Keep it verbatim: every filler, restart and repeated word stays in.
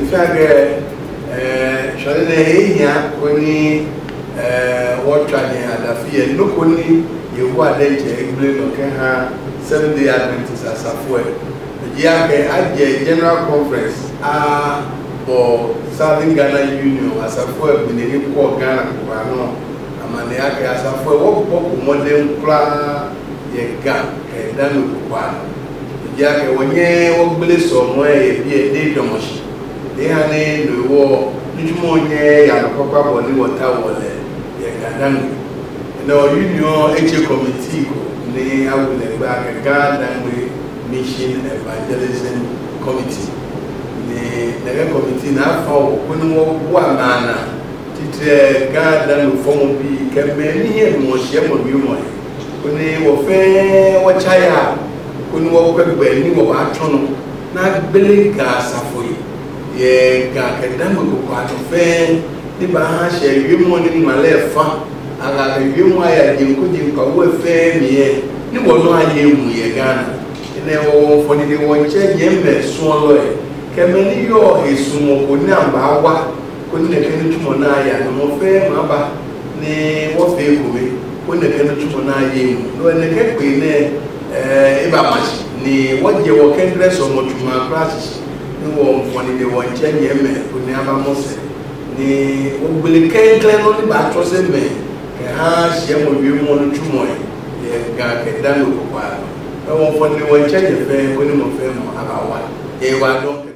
Ife ake sɔre na ehia oni wɔtwa ne adafi yɛ nnoko ni yehu adankyɛ egbile na ɔkɛ ha Seven Day Adventist asafo ɛ egyi ake agye General Conference a bɔ Southern Ghana Union asafo ɛ beneni kɔ Ghana kora no amane ake asafo ɛ wɔbɔ kɔmɔden koraa yɛ ga kɛda no kɔkɔa no egyi ake wɔnyɛ wɔgbele sɔmɔ ɛ yɛ bi ɛ de dɔmɔsi de ha ne no wɔ ntumɔ nyɛ yanokɔkɔ abɔ ne wɔta wɔ lɛ yɛ gadangbe na union eche committee ko ne awulegbe ake Ghana Mission Evangelism Committee ne nɛgɛ committee na afa wɔ ko ne wɔ bu amana titire Ghana no fɔm bi kɛmɛ ni yɛ mɔhyɛ mɔ bi mɔ yɛ ko ne wɔfɛ wɔkyaya ko ne wɔkɔ gbɛ ni wɔ atɔ no na gbele ga asafo yi yɛ ga kɛdɛmɛ koko atɔfɛ ne ba ha hyɛ wiem ne ŋmalɛ fa aga wiem ayɛ dzenko dzenko awo fɛ miɛ ne wɔ no ayɛ emu yɛ Ghana ɛnɛ wɔwɔ nfɔnide wɔ nkyɛn nyɛ mɛ sɔn lɔ yɛ kɛmɛ ne yɔ esumɔ ko ne aba wa ko ne nɛkɛ ne tumɔ n'a yɛ anamɔ fɛ ma ba ne wɔfɛ ekome ko ne nɛkɛ ne tumɔ n'a yɛ emu n'o nɛkɛ kpe ne ɛɛ eba masi ne wɔdze wɔ kɛndrɛ sɔmɔ tuma kura sisi ne wɔ nfɔnide wɔ nkyɛn nyɛ mɛ ko ne aba mɔsɛ ne wɔgbele kɛnkɛn no ne ba trɔ sɛ mɛ kɛ ha hyɛ mɔ wie mɔ no tumɔ yɛ yɛ ga kɛ dan no kɔkɔ ano ɛwɔ nfɔnide wɔ nkyɛn nyɛ fɛ ko ne mɔ fɛ mɔ aba wa yɛ wa dɔn.